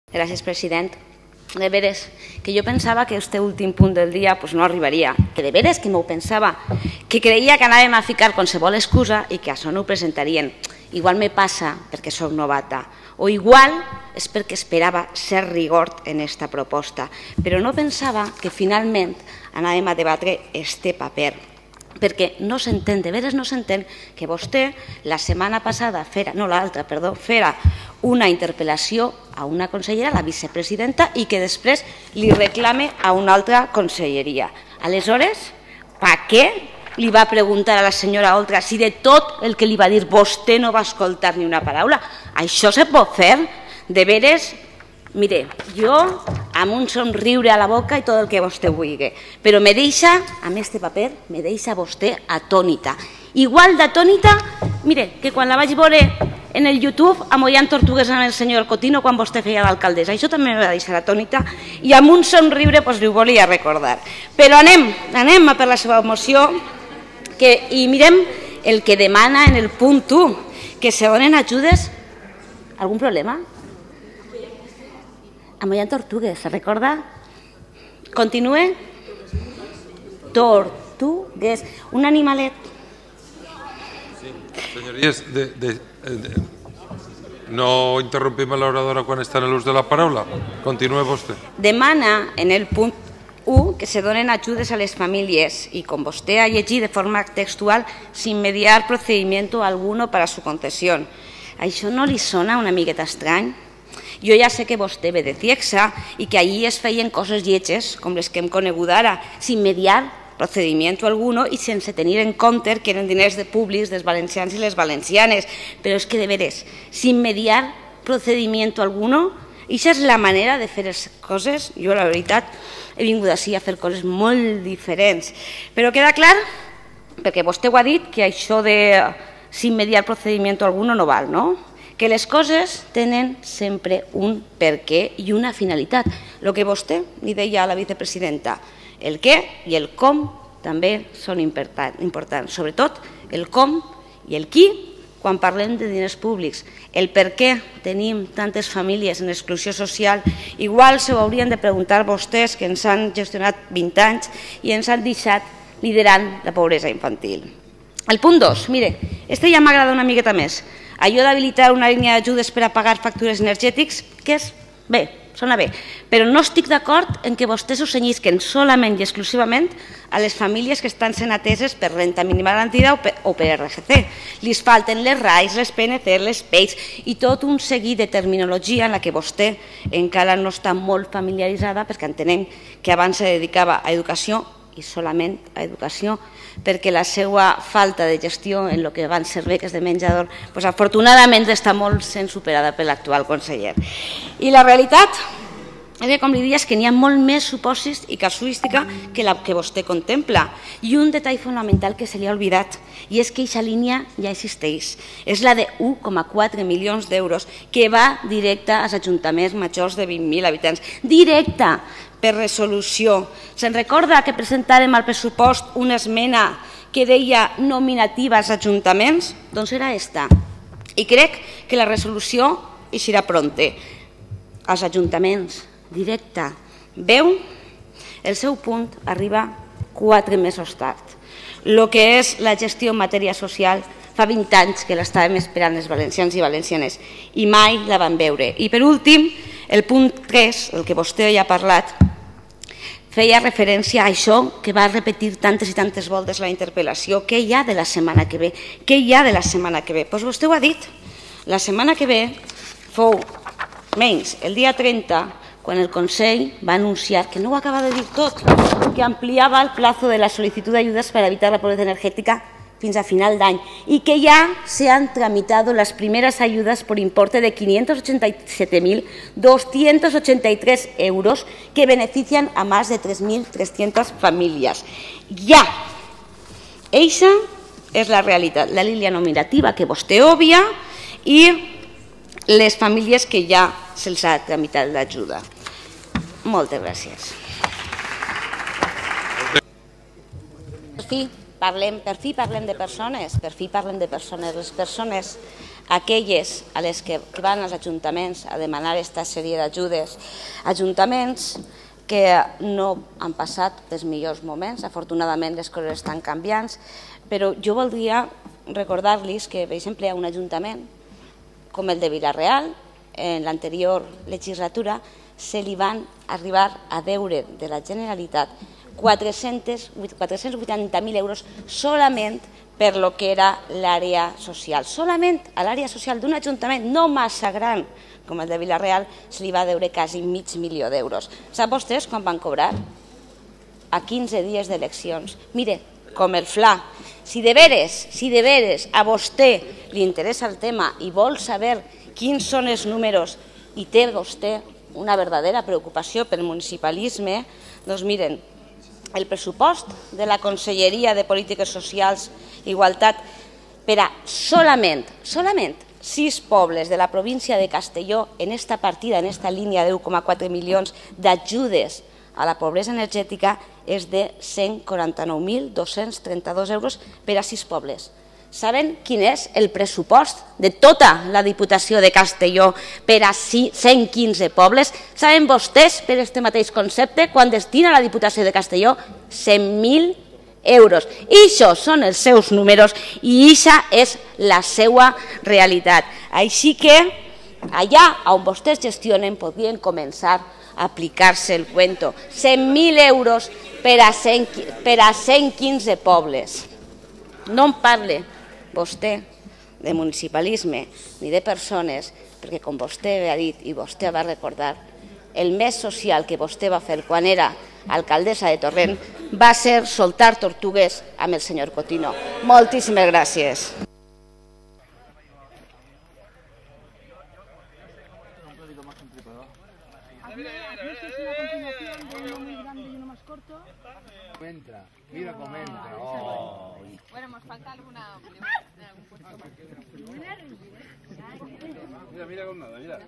Gràcies, president. De veres, que jo pensava que este últim punt del dia no arribaria, que de veres que m'ho pensava, que creia que anàvem a ficar qualsevol excusa i que això no ho presentarien. Igual me passa perquè soc novata, o igual és perquè esperava ser rigor en esta proposta, però no pensava que finalment anàvem a debatre este paper, perquè no s'entén, de veres no s'entén que vostè la setmana passada, fera una interpel·lació a una consellera, la vicepresidenta, i que després li reclame a una altra conselleria. Aleshores, per què li va preguntar a la senyora Oltra si de tot el que li va dir vostè no va escoltar ni una paraula? Això se pot fer? De veres, mire, jo amb un somriure a la boca i tot el que vostè vulgui, però me deixa, amb este paper, me deixa vostè atònita. Igual d'atònita, mire, que quan la vaig veure en el YouTube amollant tortugues amb el senyor Cotino quan vostè feia d'alcaldessa. Això també me va deixar atònita i amb un somriure li ho volia recordar. Però anem a per la seva moció i mirem el que demana en el punt 1, que se donen ajudes. Algun problema? Amollant tortugues, se recorda? Continue. Tortugues. Un animalet. Señorías, no interrompim l'oradora quan està en l'ús de la paraula. Continue vostè. Demana en el punt 1 que se donen ajudes a les famílies y, com vostè ha llegit de forma textual, sin mediar procedimiento alguno para su concesión. Això no li sona una miqueta estrany? Jo ja sé que vostè ve de Ciexa i que allí es feien coses lletges, com les que hem conegut ara, sin mediar procedimiento alguno y sense tenir en compte que eren diners públics dels valencians i les valencianes. Però és que, de veres, sin mediar procedimiento alguno, això és la manera de fer les coses. Jo, la veritat, he vingut així a fer coses molt diferents. Però queda clar, perquè vostè ho ha dit, que això de sin mediar procedimiento alguno no val, no? Que les coses tenen sempre un per què i una finalitat. El que vostè li deia a la vicepresidenta, el què i el com també són importants, sobretot el com i el qui quan parlem de diners públics. El per què tenim tantes famílies en exclusió social, igual s'ho haurien de preguntar vostès que ens han gestionat 20 anys i ens han deixat liderant la pobresa infantil. El punt 2, mire, este ja m'agrada una miqueta més. Allò d'habilitar una línia d'ajudes per a pagar factures energètics, que és bé, sona bé, però no estic d'acord en que vostès ho cenyisquen solament i exclusivament a les famílies que estan sent ateses per renta mínima garantida o per RGC. Li falten les RAIs, les PNC, les PEIs i tot un seguit de terminologia en la que vostè encara no està molt familiaritzada, perquè entenem que abans se dedicava a educació i solament a educació, perquè la seva falta de gestió en el que van ser beques de menjador afortunadament està molt sent superada per l'actual conseller. I la realitat és que, com li diria, és que n'hi ha molt més supòsits i casuística que la que vostè contempla. I un detall fonamental que se li ha oblidat, i és que aquesta línia ja existeix. És la de 1,4 milions d'euros que va directa als ajuntaments majors de 20.000 habitants. Directa, per resolució. Se'n recorda que presentàrem al pressupost una esmena que deia nominativa als ajuntaments? Doncs era esta. I crec que la resolució eixirà pronte. Als ajuntaments, directa. Veu? El seu punt arriba 4 mesos tard. El que és la gestió en matèria social fa 20 anys que l'estàvem esperant els valencians i valencianes i mai la van veure. I per últim, el punt 3, el que vostè ja ha parlat, feia referència a això que va repetir tantes i tantes voltes la interpel·lació. Què hi ha de la setmana que ve? Què hi ha de la setmana que ve? Doncs vostè ho ha dit. La setmana que ve fou menys el dia 30, quan el Consell va anunciar, que no ho acaba de dir tot, que ampliava el plazo de la sol·licitud d'ajudes per evitar la pobreza energètica fins a final d'any y que ya se han tramitado las primeras ayudas por importe de 587.283 euros que benefician a más de 3.300 familias. Ya. Eixa és la realitat, la línia nominativa que vostè obvia i les famílies que ja se'ls ha tramitat l'ajuda. Moltes gràcies. Per fi parlem de persones, les persones aquelles a les que van als ajuntaments a demanar aquesta sèrie d'ajudes, ajuntaments que no han passat els millors moments, afortunadament les coses estan canviant, però jo voldria recordar-los que, per exemple, hi ha un ajuntament com el de Vila-real, en l'anterior legislatura se li van arribar a deure de la Generalitat 480.000 euros solament per lo que era l'àrea social. Solament a l'àrea social d'un ajuntament no massa gran com el de Vila-real se li va deure quasi $500.000 d'euros. Sap vostès quan van cobrar? A 15 dies d'eleccions. Mire, com el fla. Si de veres a vostè li interessa el tema i vol saber quins són els números i té vostè una verdadera preocupació pel municipalisme, doncs miren, el pressupost de la Conselleria de Polítiques Socials i Igualtat per a solament 6 pobles de la província de Castelló en esta partida, en esta línia de 1,4 milions d'ajudes a la pobresa energètica és de 149.232 euros per a 6 pobles. Saben quin és el pressupost de tota la Diputació de Castelló per a 115 pobles? Saben vostès, per aquest mateix concepte, quan destina la Diputació de Castelló? 100.000 euros. I això són els seus números i això és la seva realitat. Així que allà on vostès gestionen podrien començar a aplicar-se el cuento. 100.000 euros per a 115 pobles. No em parle vostè de municipalisme ni de persones, perquè com vostè ha dit i vostè va recordar, el més social que vostè va fer quan era alcaldessa de Torrent va ser soltar tortugues amb el senyor Cotino. Moltíssimes gràcies. Mira cómo entra. Bueno, nos falta alguna pregunta. Mira, mira con nada, mira.